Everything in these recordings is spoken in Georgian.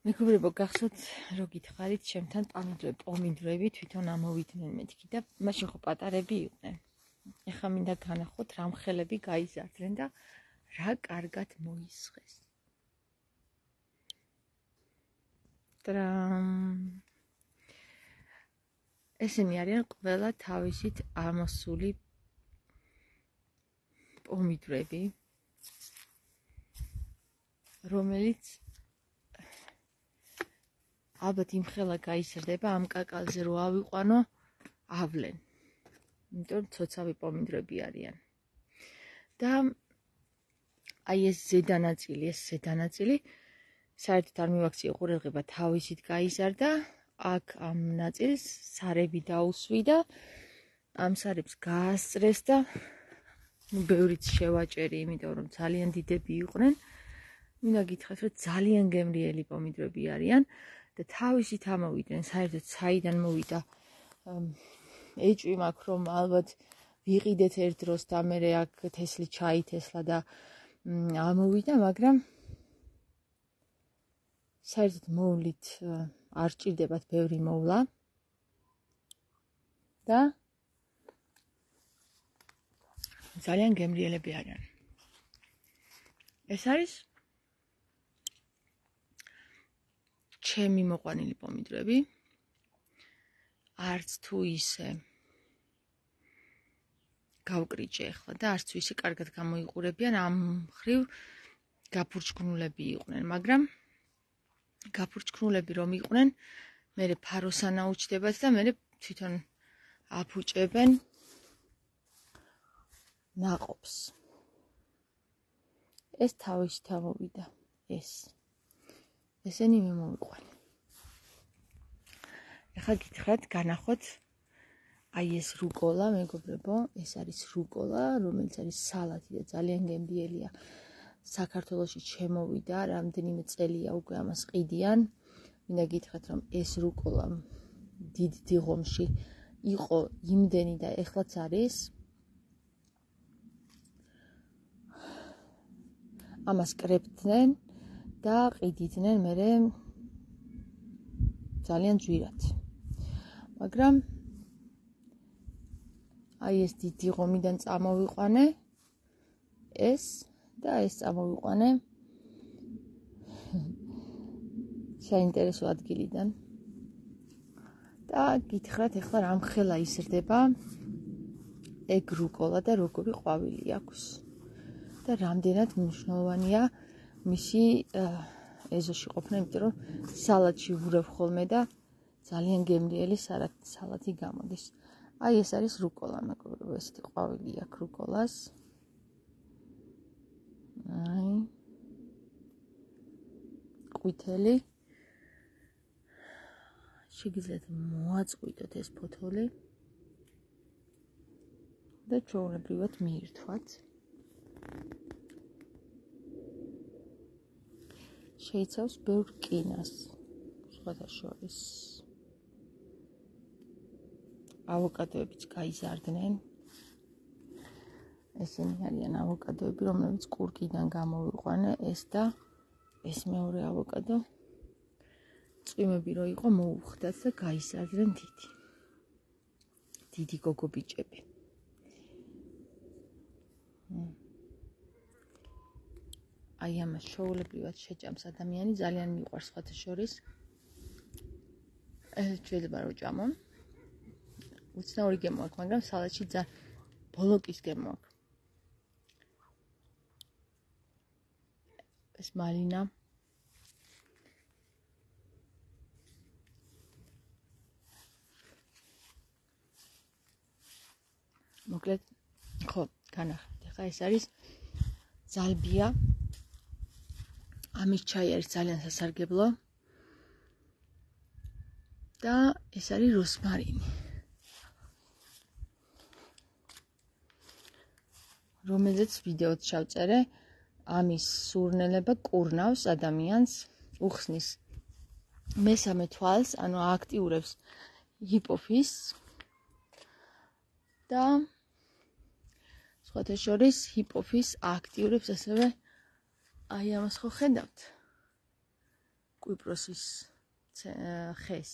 მეგობრებო, გახსოვთ რო გითხარით ჩემთან პომიდრები თვითონ ამოვიდნენ მეთქი და მაშინ ხო პატარები იყვნენ. ეხლა მინდა განახოთ რა მხელები გაიზარდნენ და რა კარგად მოისხეს. ესენი არიან ყველა თავისით ამოსული პომიდრები, რომელიც ალბათ იმხელა გაიზრდება ამ კაკალზე რო ავიყვანო ავლენ. იმიტომ ცოცავი პომიდრები არიან. და აი ეს ზედანაწილი საერთოდ არ მივაქციე ყურადღება, თავისით გაიზარდა, აქ ამ ნაწილს სარები დაუსვი და ამ სარებს გაასწრეს და ბევრიც შევაჭერი, იმიტომ რომ ძალიან დიდები იყვნენ. მინდა გითხრათ, რომ ძალიან გემრიელი პომიდრები არიან და თავისით ამოვიდნენ, საერთოდ საიდან მოვიდა ეჭვი მაქვს, რომ ალბათ ვიყიდეთ ერთ დროს და მე აქ თესლი ჩაითესლა და ამოვიდა, მაგრამ საერთოდ მოვლით არ ჭირდებათ ბევრი მოვლა და ძალიან გემრიელები არიან. ეს არის ჩემი მოყვანილი პომიდრები, არც თუ ისე გავკრიჭე ახლა და არც თუ ისე კარგად გამოიყურებიან, ამ ხრივ გაფურჩქნულები იყვნენ, მაგრამ გაფურჩქნულები რომ იყვნენ, მერე ფაროსან აუჩდებათ და მერე თვითონ აფუჭებენ ნაყოფს. ეს თავისით ამოვიდა, ესენი მე მოვიყვანე. ეხლა გითხრათ, განახოთ აი ეს რუკოლა, მეგობრებო, ეს არის რუკოლა, რომელიც არის სალათი და ძალიან გემრიელია. საქართველოში შემოვიდა, რამდენიმე წელია უკვე ამას ყიდიან. მინდა გითხრათ, რომ ეს რუკოლა დიდ დიღომში იყო იმდენი და ეხლაც არის. ამას კრებდნენ და ყიდიდნენ მერე ძალიან ძვირად. მაგრამ აი ეს დიდი ღომიდან წამოვიყვანე ეს და ეს წამოვიყვანე საინტერესო ადგილიდან და გითხრათ ეხლა რამხელა იზრდება ეგ რუკოლა და როგორი ყვავილი აქვს და რამდენად მნიშვნელოვანია მისი ეზოში ყოფნა, იმიტომ რომ სალათში ვურევ ხოლმე და ძალიან გემრიელი სალათი გამოდის. აი ეს არის რუკოლა, მეგობრებო, ესეთი ყვავილი აქვს რუკოლას. აი ყვითელი. შეგიძლიათ მოაწყვიტოთ ეს ფოთოლი და ჩვეულებრივად მიირთვათ. შეიცავს ბევრ რკინას, სხვათა შორის. ავოკადოებიც გაიზარდნენ. ესენი არიან ავოკადოები, რომლებიც კურკიდან გამოვიყვანე, ეს და ეს მეორე ავოკადო. წვიმები რო იყო, მოუხდათ და გაიზარდნენ დიდი გოგობიჭები. აი ამას შოულებრივად შეჭამს ადამიანი, ძალიან მიყვარს სხვათა შორის. შეიძლება რომ ჭამონ. უცნაური გემო აქვს, მაგრამ სალათში ბოლოკის გემო აქვს. ეს მალინა. მოკლედ, ხო, განახეთ. ახლა ეს არის ზალბია. ამის ჩაი არის ძალიან სასარგებლო. და ეს არის როსმარინი. რომელზეც ვიდეოც ჩავწერე, ამის სურნელება კურნავს ადამიანს, უხსნის მესამე თვალს, ანუ აქტიურებს ჰიპოფიზს და სხვათა შორის ჰიპოფიზს აქტიურებს ასევე აი ამას ხო ხედავთ? კვიპროსის ხეს.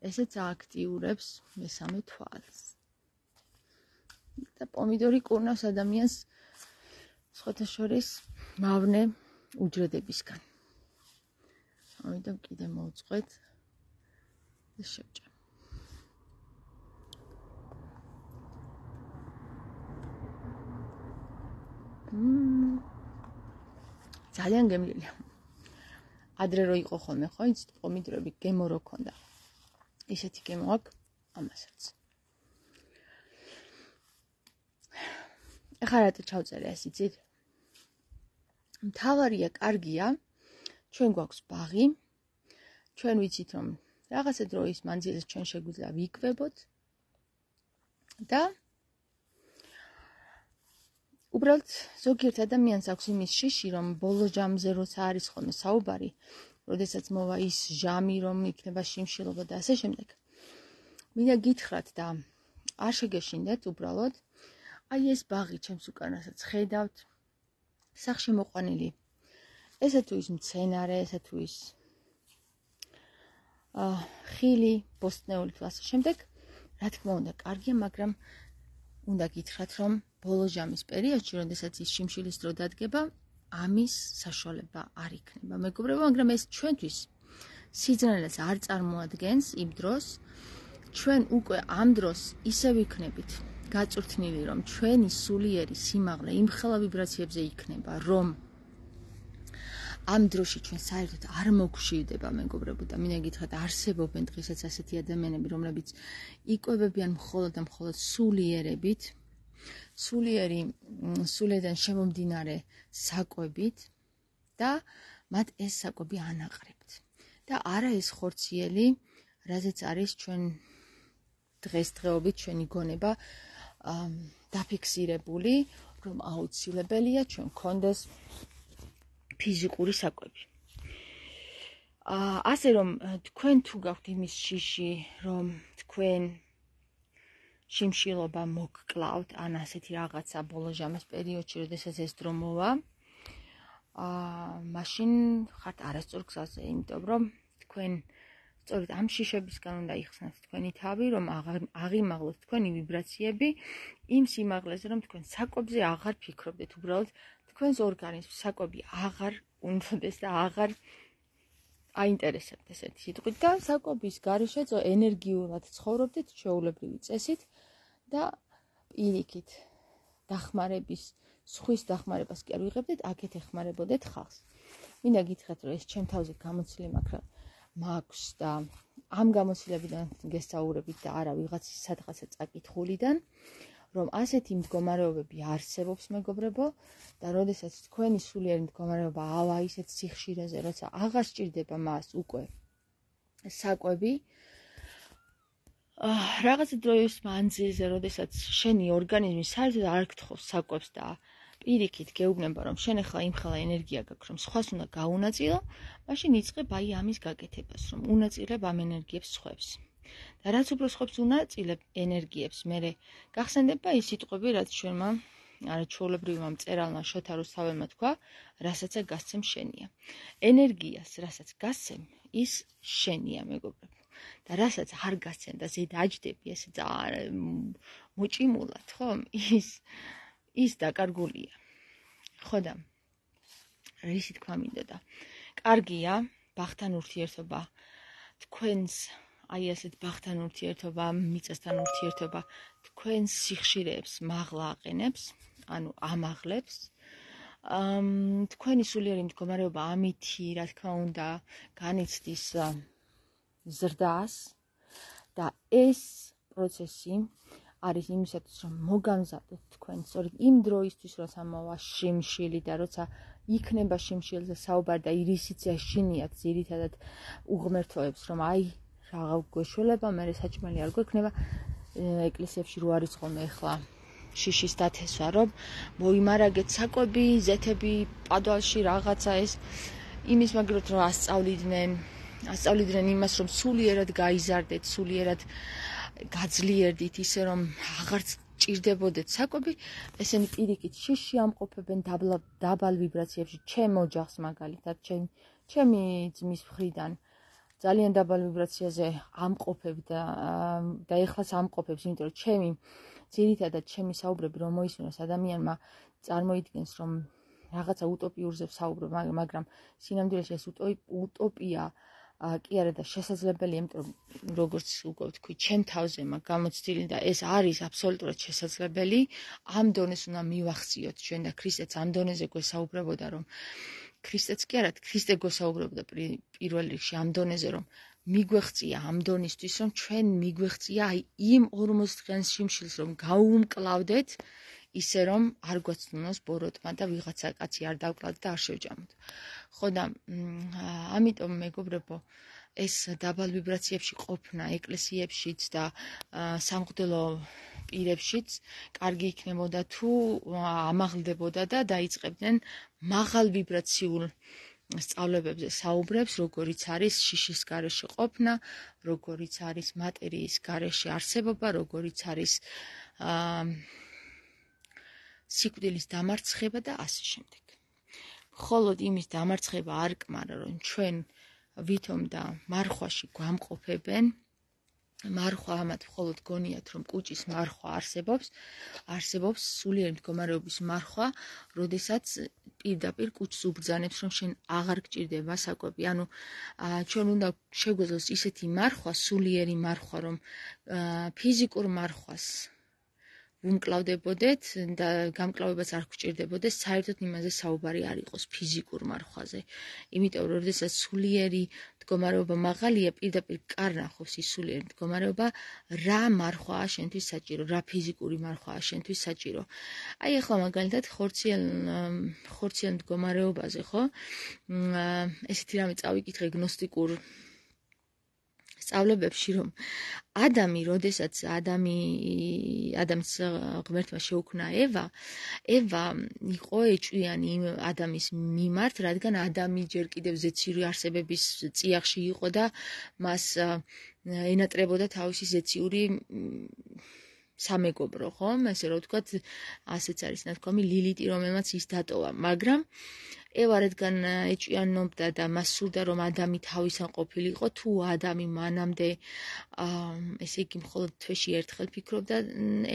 ესეც აქტიურებს მესამე თვალს. და პომიდორი კურნავს ადამიანს სხვათა შორის მავნე უჯრედებისგან. ამიტომ კიდე მოვწყვეთ და შევჭამ. ძალიან გემრიელია. ადრე რო იყო ხოლმე, ხო, იცით, პომიდორები გემო რო ქონდა. ისეთი გემო აქვს ამასაც. ეხლა რატო ჩავწერე ეს იცით? მთავარია, კარგია, ჩვენ გვაქვს ბაღი, ჩვენ ვიცით რომ რაღაცა დროის მანძილზე ჩვენ შეგვიძლია ვიკვებოთ და უბრალოდ ზოგიერთ ადამიანს აქვს იმის შიში, რომ ბოლო ჟამზე როცა არის ხოლმე საუბარი, როდესაც მოვა ის ჟამი, რომ იქნება შიმშილობა და ასე შემდეგ. მინდა გითხრათ და არ შეგეშინდეთ უბრალოდ, აი ეს ბაღი ჩემს უკანასაც ხედავთ, სახში მოყვანილი. ესა თუ ის მცენარე, ესა თუ ის ხილი, ბოსტნეული და ასე შემდეგ, რა თქმა უნდა, კარგია, მაგრამ უნდა გითხრათ, რომ ბოლო ჟამის პერიოდში, როდესაც ის შიმშილის დრო დადგება, ამის საშუალება არ იქნება. მეგობრებო, მაგრამ ეს ჩვენთვის სიძნელეს არ წარმოადგენს იმ დროს, ჩვენ უკვე ამ დროს ისე ვიქნებით გაწვრთნილი, რომ ჩვენი სულიერი სიმაღლე იმ ხელა ვიბრაციებზე იქნება, რომ ამ დროში ჩვენ საერთოდ არ მოგშვიდება, მეგობრებო, და მინდა გითხრათ, არსებობენ დღესაც ასეთი ადამიანები, რომლებიც იკვებებიან მხოლოდ და მხოლოდ სულიერებით, სულიდან შემომდინარე საკვებით და მათ ეს საკვები ანაყრებთ. და არა ეს ხორციელი, რაზეც არის ჩვენ დღესდღეობით ჩვენი გონება დაფიქსირებული, რომ აუცილებელია ჩვენ გქონდეს ფიზიკური საკვები. ასე რომ თქვენ თუ გაქვთ იმის შიში, რომ თქვენ შიმშილობა მოგკლავთ, ან ასეთი რაღაცა ბოლო ჟამის პერიოდში, როდესაც ეს დრო მოვა, მაშინ ხართ არასწორ გზაზე, იმიტომ რომ თქვენ სწორედ ამ შიშებისგან უნდა იხსნათ თქვენი თავი, რომ აღიმაღლოთ თქვენი ვიბრაციები იმ სიმაღლეზე, რომ თქვენ საკვებზე აღარ ფიქრობდეთ, უბრალოდ თქვენს ორგანიზმს საკვები აღარ უნდოდეს და აღარ აინტერესებთ ესეთი სიტყვით და საკვების გარეშე ენერგიულად ცხოვრობდეთ ჩვეულებრივი წესით და პირიქით დახმარების, სხვის დახმარებას კი არ ვიღებდეთ, აქეთ ეხმარებოდეთ ხალხს. მინდა გითხრათ, რომ ეს ჩემ თავზე გამოცილი მაქვს და ამ გამოცდილებიდან გესაუბრებით და არა ვიღაცის სადღაცა წაკითხულიდან, რომ ასეთი მდგომარეობები არსებობს, მეგობრებო, და როდესაც თქვენი სულიერი მდგომარეობა ავა ისეთ სიხშირეზე, როცა აღარ სჭირდება მას უკვე საკვები, რაღაცა დროის მანძილზე, როდესაც შენი ორგანიზმი საერთოდ არ გთხოვს საკვებს და პირიქით გეუბნება, რომ შენ ახლა იმ ხელა ენერგია გაქვს, რომ სხვას უნდა გაუნაწილო, მაშინ იწყებ აი ამის გაკეთებას, რომ უნაწილებ ამ ენერგიებს სხვებს. და რაც უფრო სხვებს უნაწილებ ენერგიებს, მერე გახსენდება ის სიტყვები, რაც ჩვენმა ჩვეულებრივმა მწერალმა შოთა რუსთაველმა თქვა, რასაც გასცემ შენია. ენერგიას, რასაც გასცემ, ის შენია, მეგობრებო. და რასაც არ გასცემ და ზედ აჯდები, ესე მოჭიმულად, ხო? ის დაკარგულია. ხო და რისი თქვა მინდოდა? კარგია, ბაღთან ურთიერთობა, თქვენს აი ასეთ ბაღთან ურთიერთობა, მიწასთან ურთიერთობა, თქვენს სიხშირეებს მაღლა აყენებს, ანუ ამაღლებს. თქვენი სულიერი მდგომარეობა ამითი, რა თქმა უნდა, განიცდის ზრდას და ეს პროცესი არის იმისათვის, რომ მოგამზადოთ თქვენ სწორედ იმ დროისთვის, როცა მოვა შიმშილი და როცა იქნება შიმშილზე საუბარი და რისიც ეშინიათ ძირითადად უღმერთოებს, რომ აი რაღა გვეშველება, მე საჭმელი არ გვექნება. ეკლესიებში რო არის ხოლმე ახლა შიშის დათესვა, რომ მოიმარაგეთ საკვები, ზეთები, პადვალში რაღაცა ეს იმის მაგრად რომ ასწავლიდნენ იმას, რომ სულიერად გაიზარდეთ, სულიერად გაძლიერდით, ისე რომ აღარც ჭირდებოდეთ საკვები, ესენი პირიქით შიში ამყოფებენ დაბალ ვიბრაციებში, ჩემ ოჯახს მაგალითად, ჩემი ძმის მხრიდან ძალიან დაბალ ვიბრაციაზე ამყოფებ და ეხლაც ამყოფებს, იმიტომ რომ ჩემი ძირითადად ჩემი საუბრები რომ მოისმინოს ადამიანმა წარმოიდგენს რომ რაღაცა утоპიურზე ვსაუბრობ, მაგრამ სინამდვილეში ეს утоპია კი არა და შესაძლებელია, იმიტომ რომ როგორც უკვე ვთქვი, ჩემ თავზე მაქვს გამოცდილი და ეს არის აბსოლუტურად შესაძლებელი. ამ დონეს უნდა მივახციოთ ჩვენ და ქრისტეც ამ დონეზე გვესაუბრებოდა, რომ ქრისტეც კი არა, ქრისტე გვესაუბრებოდა პირველ რიგში ამ დონეზე, რომ მიგვეღწია ამ დონისთვის, რომ ჩვენ მიგვეღწია აი იმ 40 დღის შიმშილს, რომ გაუმკლავდეთ ისე რომ არ გვაცნუნოს ბოროტმა და ვიღაცა კაცი არ დავკლათ და არ შევჯამოთ. ხო და ამიტომ მეგობრებო, ეს დაბალ ვიბრაციებში ყოფნა ეკლესიებშიც და სამღვდელო პირებშიც კარგი იქნებოდა თუ ამაღლდებოდა და დაიწყებდნენ მაღალ ვიბრაციულ სწავლებებზე საუბრებს, როგორიც არის შიშის გარეშე ყოფნა, როგორიც არის მატერიის გარეშე არსებობა, როგორიც არის სიკვდილის დამარცხება და ასე შემდეგ. მხოლოდ იმის დამარცხება არ კმარა, რომ ჩვენ ვითომ და მარხვაში გვამყოფებენ, მარხვა ამათ მხოლოდ გონიათ, რომ კუჭის მარხვა არსებობს სულიერი მდგომარეობის მარხვა, როდესაც პირდაპირ კუჭს უბრძანებს, რომ შენ აღარ გჭირდება საკვები. ანუ ჩვენ უნდა შეგვეძლოს ისეთი მარხვა, სულიერი მარხვა, რომ ფიზიკურ მარხვას ვუმკლავდებოდეთ და გამკლავებას არ გვჭირდებოდეს, საერთოდ იმაზე საუბარი არ იყოს ფიზიკურ მარხვაზე. იმიტომ რომ როდესაც სულიერი მდგომარეობა მაღალია, პირდაპირ კარნახობს ის სულიერი მდგომარეობა, რა მარხვაა შენთვის საჭირო, რა ფიზიკური მარხვაა შენთვის საჭირო. აი ახლა მაგალითად ხორციელ მდგომარეობაზე, ხო? ესეთი რამე წავიკითხე გნოსტიკურ სწავლებებში, რომ ადამი, როდესაც ადამიანს ღმერთმა შეუქმნა ევა იყო ეჭვიანი იმ ადამის მიმართ, რადგან ადამი ჯერ კიდევ ზეციური არსებების წიაღში იყო და მას ენატრებოდა თავისი ზეციური სამეგობრო, ხო? ესე რომ ვთქვათ, ასეც არის ნათქვამი ლილიტი, რომელმაც ის დატოვა, მაგრამ ევა რადგან ეჭვიანობდა და მას სურდა რომ ადამი თავისან ყოფილიყო, თუ ადამი მანამდე ესე იგი მხოლოდ თვეში ერთხელ ფიქრობდა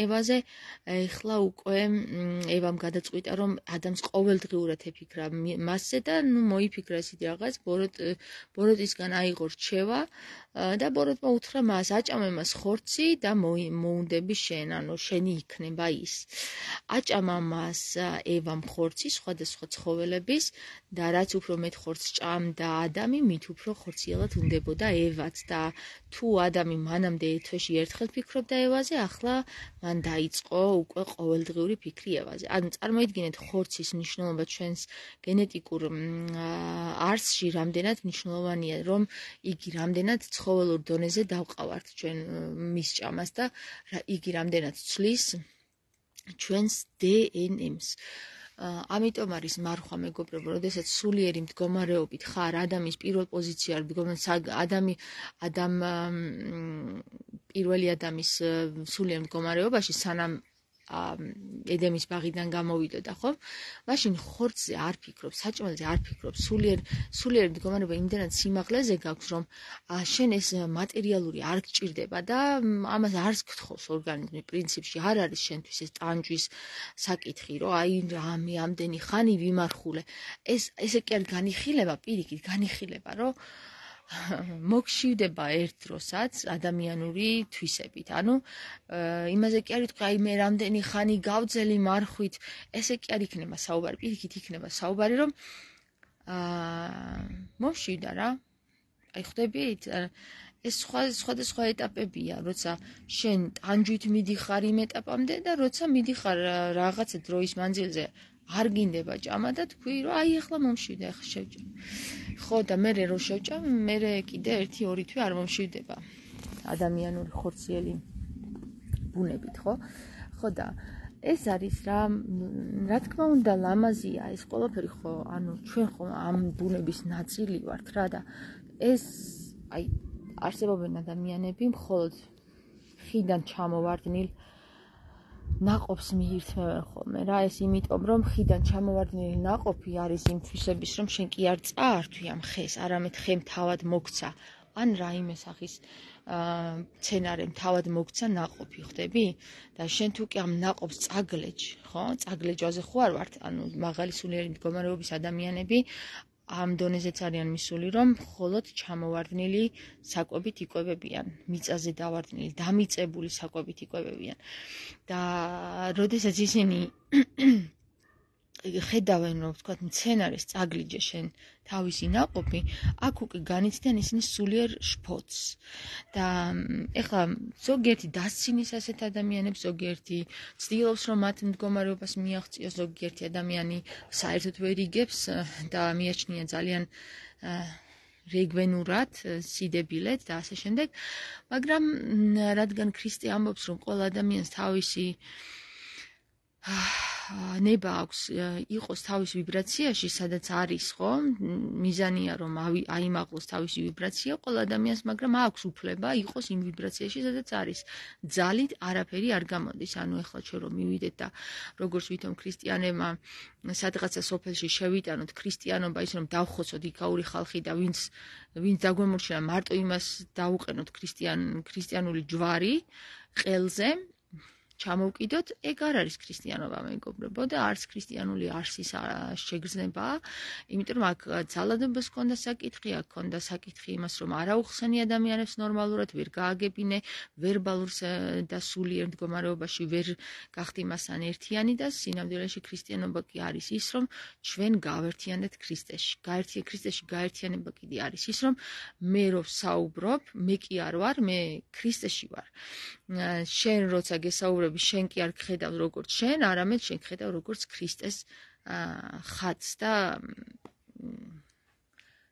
ევაზე, ეხლა უკვე ევამ გადაწყვიტა რომ ადამს ყოველდღიურად ეფიქრა მასზე და მოიფიქრა ისეთი რაღაც, ბოროტისგან აიღო რჩევა და ბოროტმა უთხრა მას, აჭამე მას ხორცი და მოუნდები შენ, ანუ შენი იქნება ის. აჭამა მას ევამ ხორცი სხვადასხვა ცხოველების და რაც უფრო მეტ ხორცს ჭამდა ადამი, მით უფრო ხორციელად უნდებოდა ევაც და თუ ადამი მანამდე თვეში ერთხელ ფიქრობდა ევაზე, ახლა მან დაიწყო უკვე ყოველდღიური ფიქრი ევაზე. ანუ წარმოიდგინეთ ხორცის მნიშვნელობა ჩვენს გენეტიკურ არსში რამდენად მნიშვნელოვანია, რომ იგი რამდენად ცხოველურ დონეზე დავყავართ ჩვენ მის ჭამას და იგი რამდენად ცვლის ჩვენს დნმ-ს. ამიტომ არის მარხვა, მეგობრებო, როდესაც სულიერი მდგომარეობით ხარ, ადამის პირველ პოზიციაზე, პირველი ადამიანის სულიერ მდგომარეობაში, სანამ ედემის ბაღიდან გამოვიდოდა, ხო? მაშინ ხორცზე არ ფიქრობ, საჭმელზე არ ფიქრობ, სულიერი მდგომარეობა იმდენად სიმაღლეზე გაქვს, რომ შენ ეს მატერიალური არ გჭირდება და ამას არც გთხოვს ორგანიზმი პრინციპში, არ არის შენთვის ეს ტანჯვის საკითხი, რომ აი რამე ამდენი ხანი ვიმარხულე. ესე კი არ განიხილება, პირიქით განიხილება, რომ მოგშივდება ერთ დროსაც ადამიანური თვისებით. ანუ იმაზე კი არ იტყვი, აი მე რამდენი ხანი გავძელი მარხვით, ესე კი არ იქნება საუბარი, პირიქით იქნება საუბარი, რომ მომშივდა რა. აი ხვდებით? ეს სხვადასხვა ეტაპებია, როცა შენ ტანჯვით მიდიხარ იმ ეტაპამდე და როცა მიდიხარ რაღაცა დროის მანძილზე არ გინდება ჭამა და თქვი, რომ აი ახლა მომშივდა, ახლა შევჭამ. ხო და მე რო შევჭამ, მე კიდე 1-2 თვე არ მომშივდება ადამიანური ხორციელი ბუნებით, ხო? ხო და ეს არის რა თქმა უნდა ლამაზია ეს ყველაფერი, ხო, ანუ ჩვენ ხო ამ ბუნების ნაწილი ვართ რა და ეს აი არსებობენ ადამიანები მხოლოდ ხიდან ჩამოვარდნილ ნაყოფს მიირთმევენ ხოლმე რა, ეს იმიტომ რომ ხიდან ჩამოვარდნილი ნაყოფი არის იმ თვისების რომ შენ კი არ წაართვი ამ ხეს, არამედ ხემ თავად მოგცა, ან რაიმე სახის სცენარემ თავად მოგცა ნაყოფი, ხვდები? და შენ თუ კი ამ ნაყოფს წაგლეჯ, ხო? წაგლეჯვაზე ხო არ ვართ, ანუ მაღალი სულიერი მდგომარეობის ადამიანები ამ დონეზეც არიან მისული, რომ მხოლოდ ჩამოვარდნილი საკვებით იკვებებიან, მიწაზე დავარდნილი, დამიწებული საკვებით იკვებებიან. და როდესაც ისინი ხედავენ, რომ ვთქვათ, მცენარეს წაგლიჯე შენ თავისი ნაყოფი, აქ უკვე განიცდიან ისინი სულიერ შფოთს. და ეხლა ზოგიერთი დასცინის ასეთ ადამიანებს, ზოგიერთი ცდილობს, რომ მათ მდგომარეობას მიაღწიოს, ზოგიერთი ადამიანი საერთოდ ვერ იგებს და მიაჩნია ძალიან რეგვენურად, სიდებილეთ და ასე შემდეგ. მაგრამ რადგან ქრისტე ამბობს, რომ ყველა ადამიანს თავისი ნება აქვს იყოს თავის ვიბრაციაში, სადაც არის, ხო? მიზანია რომ აიმაღლოს თავისი ვიბრაცია ყველა ადამიანს, მაგრამ აქვს უფლება იყოს იმ ვიბრაციაში, სადაც არის. ძალით არაფერი არ გამოდის. ანუ ეხლა ჩვენ რომ მივიდეთ და როგორც ვითომ ქრისტიანებმა სადღაცა სოფელში შევიტანოთ ქრისტიანობა, ის რომ დავხოცოთ იქაური ხალხი და ვინც დაგვემორჩილა მარტო იმას დაუყენოთ ქრისტიანული ჯვარი ყელზე, ჩამოვკიდოთ, ეგ არ არის ქრისტიანობა, მეგობრებო, და არც ქრისტიანული არსის შეგრძნებაა, იმიტომ რომ აქ ძალადობას ჰქონდა საკითხი, აქ ჰქონდა საკითხი იმას, რომ არ აუხსენი ადამიანებს ნორმალურად, ვერ გააგებინე, ვერბალურ და სულიერ მდგომარეობაში ვერ გახდი მასთან ერთიანი და სინამდვილეში ქრისტიანობა კი არის ის, რომ ჩვენ გავერთიანდეთ ქრისტეში. ქრისტეში გაერთიანება კიდე არის ის, რომ მე რო ვსაუბრობ, მე კი არ ვარ, მე ქრისტეში ვარ. შენ როცა გესაუბრები, შენ კი არ გხედავ როგორც შენ, არამედ შენ გხედავ როგორც ქრისტეს ხატს და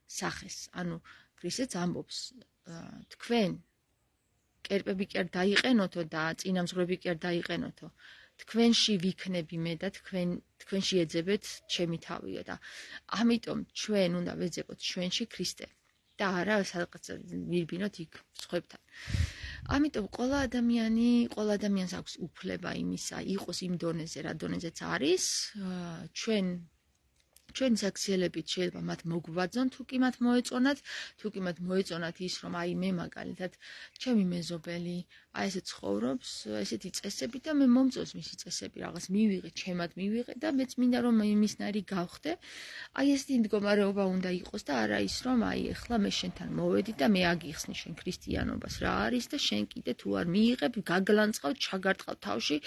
სახეს. ანუ ქრისტეც ამბობს, თქვენ კერპები კი არ დაიყენოთო და წინამძღვრები კი არ დაიყენოთო. თქვენში ვიქნები მე და თქვენში ეძებეთ ჩემი თავიო და ამიტომ ჩვენ უნდა ვეძებოთ ჩვენში ქრისტე და არა სადღაცა ვირბინოთ იქ სხვებთან. ამიტომ ყველა ადამიანს აქვს უფლება იმისა, იყოს იმ დონეზე, რა დონეზეც არის, ჩვენ საქციელებით შეიძლება მათ მოგვბაძონ, თუ კი მათ მოეწონათ, ის, რომ აი მე მაგალითად, ჩემი მეზობელი, აი ესე ცხოვრობს, ესეთი წესები და მე მომწონს მისი წესები, რაღაც მივიღე, ჩემად მივიღე და მეც მინდა რომ იმისნაირი გავხდე. აი ესეთი მდგომარეობა უნდა იყოს და არა ის, რომ აი ეხლა მე შენთან მოვედი და მე აგიხსნი შენ ქრისტიანობას რა არის და შენ კიდე თუ არ მიიღებ, გაგლანწყავ, ჩაგარტყავ თავში,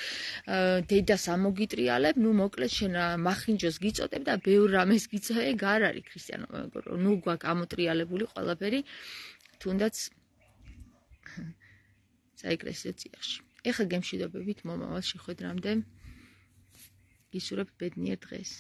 დედას ამოგიტრიალებ, ნუ მოკლედ შენ მახინჯოს გიწოდებ და ბევრ რამეს გიწოდებ, ეგ არ არის ქრისტიანობა, მეგობრო. ნუ გვაქვს ამოტრიალებული ყველაფერი, თუნდაც საეკლესიო წიაღში. ეხლა გემშვიდობებით მომავალ შეხვედრამდე. გისურვებ ბედნიერ დღეს.